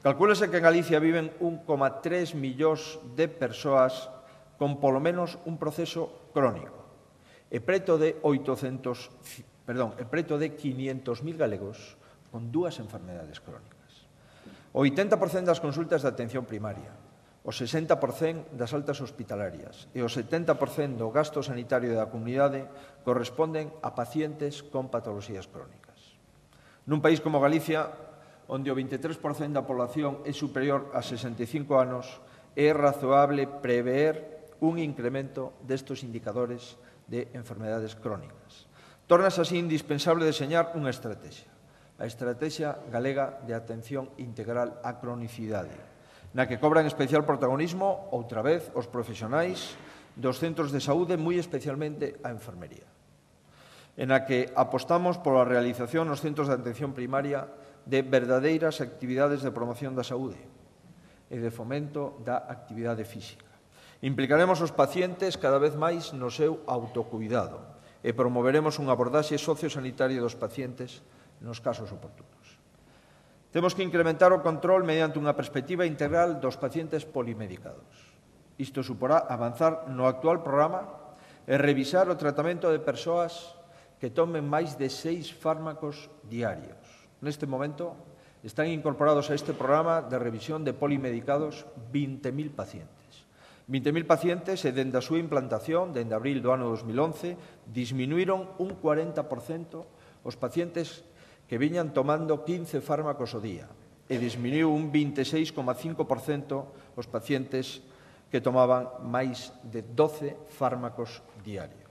Calcúlese que en Galicia viven 1,3 millóns de persoas con polo menos un proceso crónico e preto de 500.000 galegos con dúas enfermedades crónicas. O 80% das consultas de atención primaria, o 60% das altas hospitalarias e o 70% do gasto sanitario da comunidade corresponden a pacientes con patoloxías crónicas. Nun país como Galicia, onde o 23% da población é superior a 65 anos, é razoable prever un incremento destes indicadores de enfermedades crónicas. Tórnase así indispensable deseñar unha estrategia, a Estrategia Galega de Atención Integral á Cronicidade, na que cobran especial protagonismo, outra vez, os profesionais dos centros de saúde, moi especialmente a enfermería, en a que apostamos pola realización nos centros de atención primaria de verdadeiras actividades de promoción da saúde e de fomento da actividade física. Implicaremos os pacientes cada vez máis no seu autocuidado e promoveremos unha abordaxe sociosanitaria dos pacientes nos casos oportunos. Temos que incrementar o control mediante unha perspectiva integral dos pacientes polimedicados. Isto suporá avanzar no actual programa e revisar o tratamento de persoas que tomen máis de 6 fármacos diarios. Neste momento, están incorporados a este programa de revisión de polimedicados 20.000 pacientes. 20.000 pacientes e, dende a súa implantación, dende abril do ano 2011, disminuíron un 40% os pacientes que viñan tomando 15 fármacos ao día e disminuiu un 26,5% os pacientes que tomaban máis de 12 fármacos diarios.